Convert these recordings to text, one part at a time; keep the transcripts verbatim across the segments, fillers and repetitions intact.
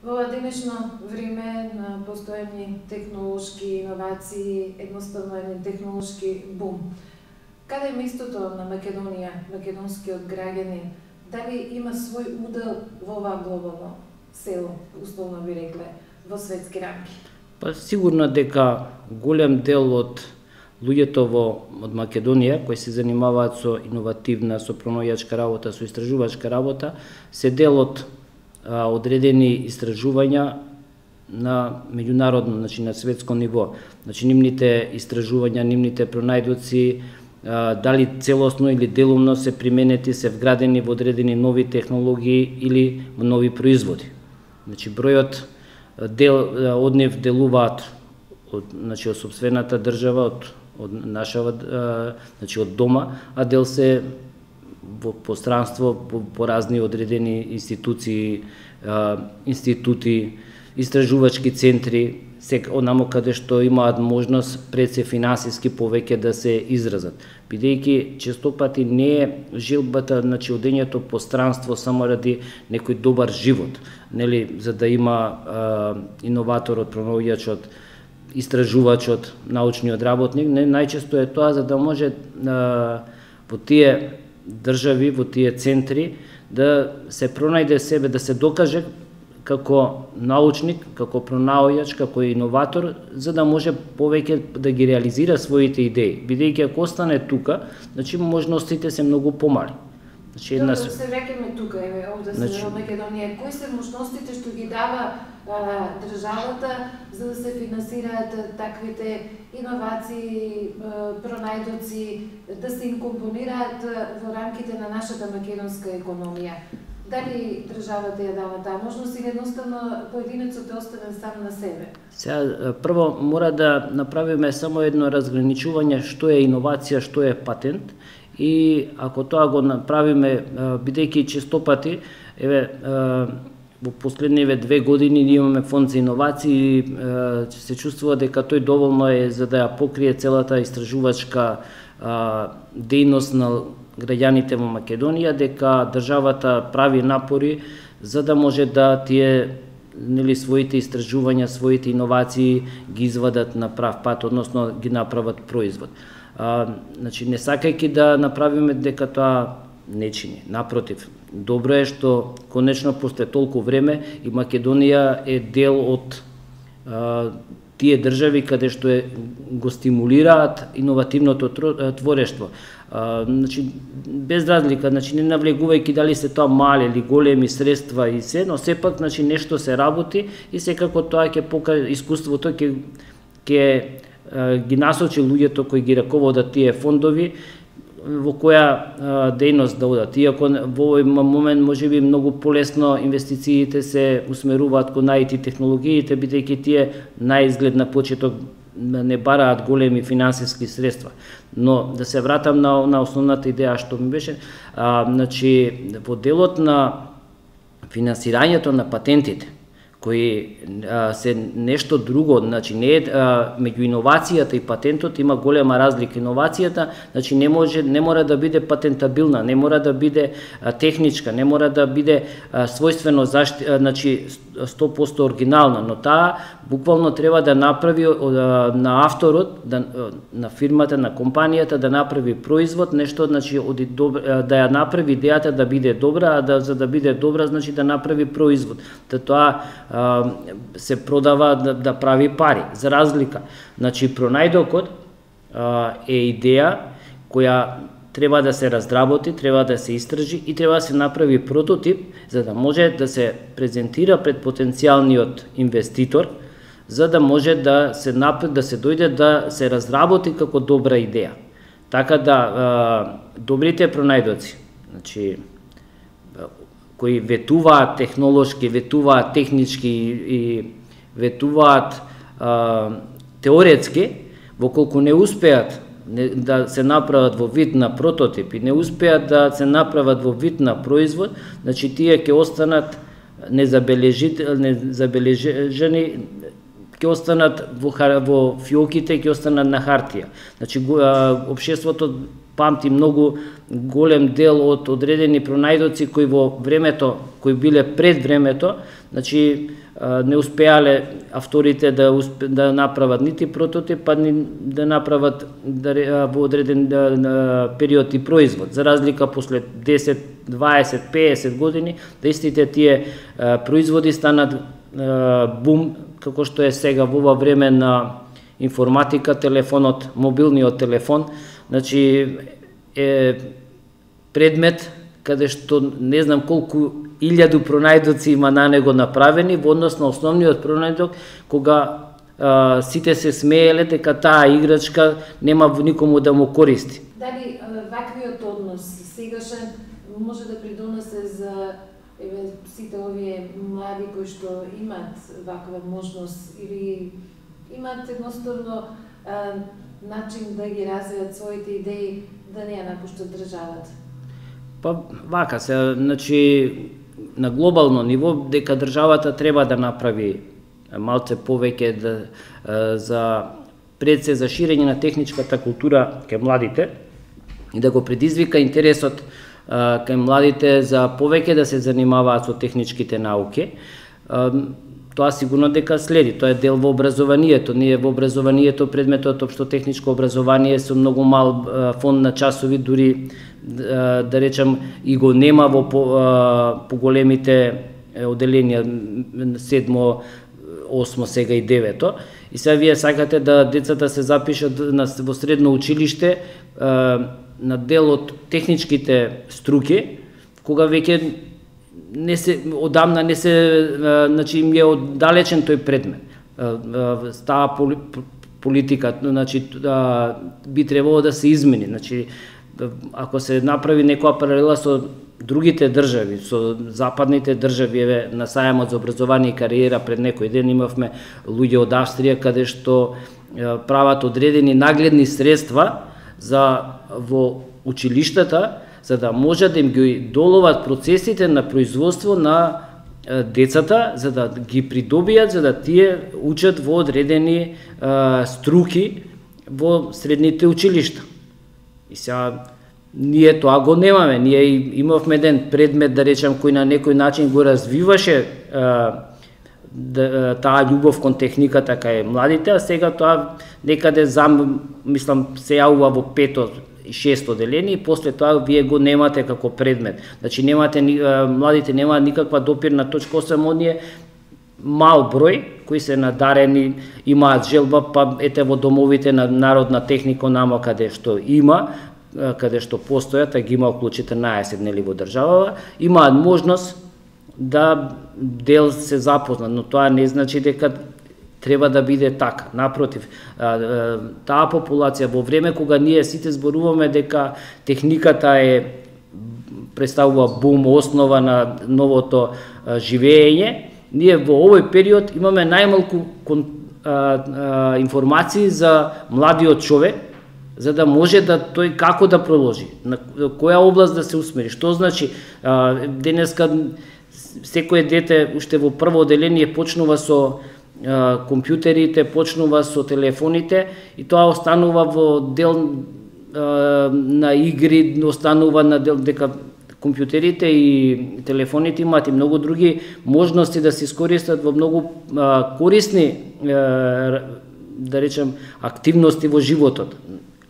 Во денешно време на постојани технолошки иновации, едноставно еден технолошки бум. Каде е местото на Македонија, македонскиот граѓанин? Дали има свој удел во ова глобално село, условно би рекле, во светски рамки? Па сигурно дека голем дел од луѓето во од Македонија кои се занимаваат со иновативна, со пронаоѓачка работа, со истражувачка работа, се дел од а, одредени истражувања на меѓународно, значи на светско ниво. Значи нивните истражувања, нивните пронајдоци, а, дали целосно или делумно се применети, се вградени во одредени нови технологии или во нови производи. Значи бројот дел од нив делуваат од, значи од сопствената држава, од од нашава, значи од дома, а дел се во пространство по, по разни одредени институции, институти, истражувачки центри, сека онамо каде што имаат можност пред се финансиски повеќе да се изразат. Бидејќи често пати не е желбата, значи одењето пространство само ради некој добар живот, нели, за да има а, иноваторот, пронаоѓачот, истражувачот, научниот работник, не најчесто е тоа за да може а, во тие држави, во тие центри да се пронајде себе, да се докаже како научник, како пронаоѓач, како иноватор, за да може повеќе да ги реализира своите идеи. Бидејќи ако остане тука, значи можностите се многу помали. Значи една се враќаме тука, еве овде се во Македонија. Кои се можностите што ги дава а, државата за да се финансираат таквите иновации, а, пронајдоци, да се инкомпонираат во рамките на нашата македонска економија? Дали државата ја дава таа можност или едноставно поединецот е оставен сам на себе? Сега, прво мора да направиме само едно разграничување што е иновација, што е патент. И ако тоа го направиме, бидејќи често пати, еве, во последниве две години ние имаме фонд за иновации и се чувствува дека тој доволно е за да ја покрие целата истражувачка дејност на граѓаните во Македонија, дека државата прави напори за да може да тие, нели, своите истражувања, своите иновации ги извадат на прав пат, односно ги направат производ. А, значи, не сакајќи да направиме дека тоа не чини. Напротив, добро е што конечно после толку време и Македонија е дел од а, тие држави каде што е, го стимулираат иновативното творештво. А, значи, без разлика, значи, не навлегувајќи дали се тоа мали или големи средства и се, но сепак, значи, нешто се работи и секако тоа ќе покаже искуството, ќе ќе ги насочи луѓето кои ги раководат тие фондови во која дејност да одат. Иако во овој момент можеби многу полесно инвестициите се усмеруваат кон ай ти технологиите, бидејќи тие наизглед на почеток не бараат големи финансиски средства. Но да се вратам на, на основната идеја што ми беше, а, значи во делот на финансирањето на патентите, кои а, се нешто друго, значи не е а, меѓу иновацијата и патентот има голема разлика. Иновацијата, значи не може, не мора да биде патентабилна, не мора да биде а, техничка, не мора да биде а, својствено зашти, а, значи сто посто оригинална, но таа буквално треба да направи а, на авторот, да, на фирмата, на компанијата да направи производ, нешто, значи оди добра, да ја направи идејата да биде добра, а да за да биде добра, значи да направи производ. Та тоа се продава да, да прави пари. За разлика, значи пронајдокот е идеја која треба да се раздработи, треба да се истражи и треба да се направи прототип за да може да се презентира пред потенцијалниот инвеститор, за да може да се напред, да се дојде да се разработи како добра идеја. Така да добрите пронајдоци, значи кои ветуваат технолошки, ветуваат технички и ветуваат а, теоретски, во колку не успеат не, да се направат во вид на прототип и не успеат да се направат во вид на производ, значи тие ќе останат незабележени, ќе останат во, во фиоките, ќе останат на хартија. Значи, општеството памти многу голем дел од одредени пронајдоци кои во времето, кои биле пред времето, значи не успеале авторите да успе, да направат нити прототип, па ни да направат да, во одреден да, период и производ. За разлика после десет, дваесет, песет години, да истите тие а, производи станат а, бум, како што е сега во ова време на информатика, телефонот, мобилниот телефон, значи е предмет каде што не знам колку илјаду пронајдоци има на него направени во однос на основниот пронајдок, кога а, сите се смееле дека таа играчка нема никому да му користи. Дали ваквиот однос сегашен може да придонесе за еве сите овие млади кои што имаат ваква можност или имаат едноставно а, начин да ги развијат своите идеи, да не ја напуштат државата? Па вака се, значи на глобално ниво дека државата треба да направи малце повеќе да, за пред се за ширење на техничката култура кај младите и да го предизвика интересот кај младите за повеќе да се занимаваат со техничките науки. Тоа сигурно дека следи, тоа е дел во образованието. Ние во образованието предметот општо техничко образование со многу мал фонд на часови, дури да речам и го нема во поголемите оделенија седмо, осмо, сега и девето. И сега вие сакате да децата се запишат во средно училиште на дел од техничките струки, кога веќе не се одамна не се значи им е оддалечен тој предмет. Става политика, значи би требало да се измени. Значи ако се направи некоја паралела со другите држави, со западните држави, еве на сајамот за образование и кариера пред некој ден имавме луѓе од Австрија каде што прават одредени нагледни средства за во училиштата, за да може да им ги доловат процесите на производство на децата, за да ги придобијат, за да тие учат во одредени а, струки во средните училишта. И сега ние тоа го немаме. Ние имавме еден предмет, да речем, кој на некој начин го развиваше а, да, таа љубов кон техниката кај младите, а сега тоа некаде зам, мислам, се јавува во пето и шесто деление, и после тоа вие го немате како предмет. Значи немате, младите немаат никаква допирна точка, освен оние мал број кои се надарени, имаат желба, па ете во домовите на народна технико-нама каде што има, каде што постојат, а ги има околу четрнаесет нели во државава, имаат можност да дел се запознат, но тоа не значи дека треба да биде така. Напротив, таа популација во време кога ние сите зборуваме дека техниката е представува бум, основа на новото живење, ние во овој период имаме најмалку информации за младиот човек, за да може да тој како да продолжи, на која област да се усмери. Што значи денеска секое дете уште во прво оделение почнува со компјутерите, почнува со телефоните и тоа останува во дел на игри, останува на дел дека компјутерите и телефоните имаат и многу други можности да се искористат во многу корисни, да речем, активности во животот.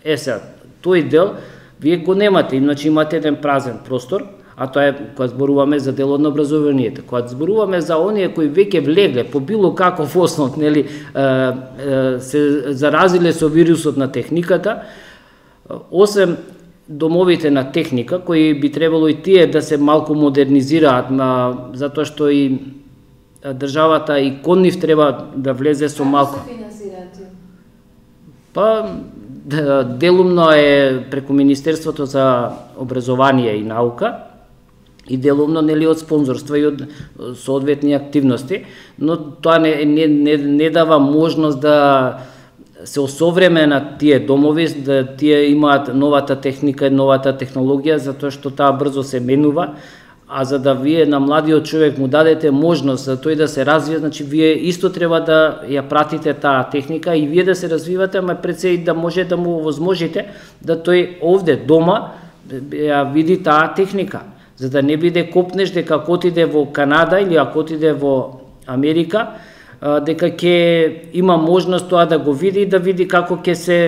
Е сега, тој дел вие го немате, иначе имате еден празен простор, а тоа е кога зборуваме за делот на образованието. Кога зборуваме за оние кои веќе влегле по било каков основ, нели, се заразиле со вирусот на техниката, освен домовите на техника, кои би требало и тие да се малку модернизираат, затоа што и државата и кон нив треба да влезе со малку. Како се финансираат? Па делумно е преку Министерството за образование и наука и делумно нели од спонзорства и од соодветни активности, но тоа не, не, не, не дава можност да се осовременат тие домови, да тие имаат новата техника и новата технологија, затоа што таа брзо се менува, а за да вие на младиот човек му дадете можност за тој да се развие, значи вие исто треба да ја пратите таа техника и вие да се развивате, ама пред се и да може да му возможите да тој овде дома ја види таа техника, за да не биде копнеш дека ако отиде во Канада или ако отиде во Америка, дека ќе има можност тоа да го види и да види како ќе се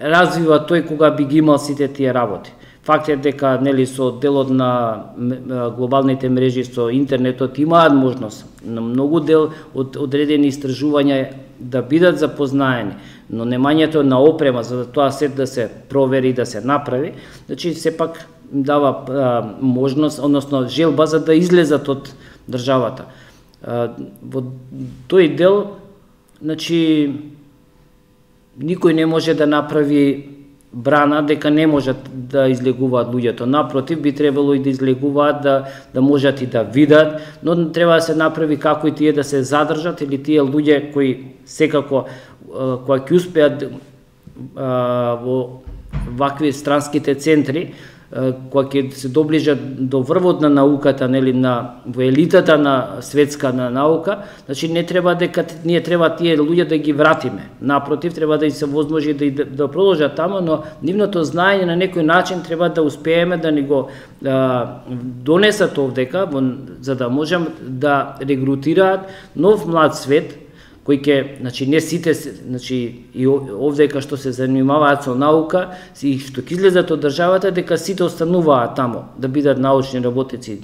развива тој кога би ги имал сите тие работи. Факт е дека нели со делот на глобалните мрежи, со интернетот имаат можност на многу дел од одредени истражувања да бидат запознаени, но немањето на опрема за да тоа се да се провери, да се направи, значи сепак дава а, можност, односно желба за да излезат од државата. А, во тој дел, значи никој не може да направи брана дека не можат да излегуваат луѓето. Напротив, би требало и да излегуваат, да, да можат и да видат, но треба да се направи како и тие да се задржат, или тие луѓе кои секако, кои ќе успеат во вакви странските центри, кога ќе се доближат до врвот на науката, нели, на во елитата на светска на наука, значи не треба дека ние треба тие луѓе да ги вратиме. Напротив, треба да им се возможи да да продолжат тамо, но нивното знаење на некој начин треба да успееме да ни го а, донесат овдека, за да можем да регрутираат нов млад свет кој ќе, значи не сите, значи и овдека што се занимаваат со наука и што ќе излезат од државата, дека сите остануваат тамо да бидат научни работници.